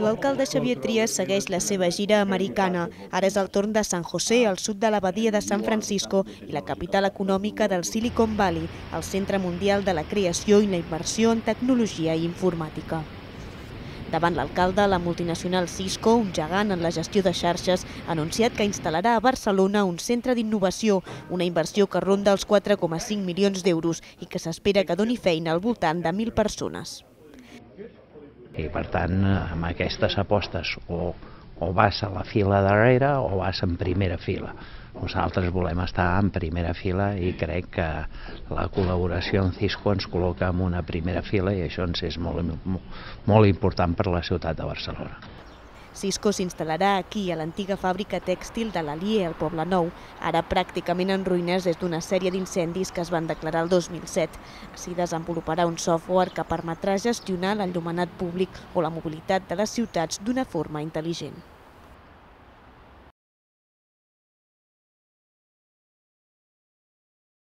L'alcalde Xavier Trias segueix la seva gira americana. Ara és el torn de San José, al sud de la badia de San Francisco i la capital econòmica del Silicon Valley, el centre mundial de la creació i la inversió en tecnologia i informàtica. Davant l'alcalde, la multinacional Cisco, un gegant en la gestió de xarxes, ha anunciat que instal·larà a Barcelona un centre d'innovació, una inversió que ronda els 4,5 milions d'euros i que s'espera que doni feina al voltant de 1.000 persones. I per tant, amb aquestes apostes o vas a la fila darrere o vas en primera fila. Nosaltres volem estar en primera fila i crec que la col·laboració amb Cisco ens col·loca en una primera fila i això ens és molt important per a la ciutat de Barcelona. Cisco s'instal·larà aquí, a l'antiga fàbrica tèxtil de l'Alier, al Poble Nou, ara pràcticament en ruïnes des d'una sèrie d'incendis que es van declarar el 2007. Així desenvoluparà un software que permetrà gestionar l'enllumenat públic o la mobilitat de les ciutats d'una forma intel·ligent.